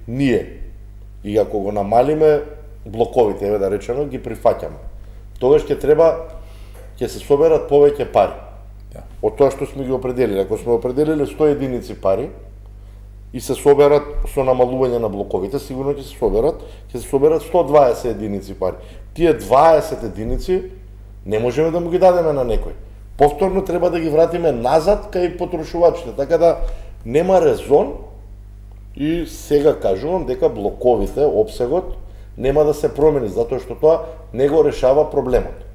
ние и ако го намалиме блоковите, еве да речеме, ги прифаќаме. Тогаш ќе се соберат повеќе пари. Од тоа што сме ги определили. Ако сме определили 100 единици пари и се соберат со намалување на блоковите, сигурно ќе се соберат 120 единици пари. Тие 20 единици не можеме да му ги дадеме на некој. Повторно треба да ги вратиме назад кај потрошувачите, така да нема резон и сега кажувам дека блоковите, опсегот, нема да се промени, затоа што тоа не го решава проблемот.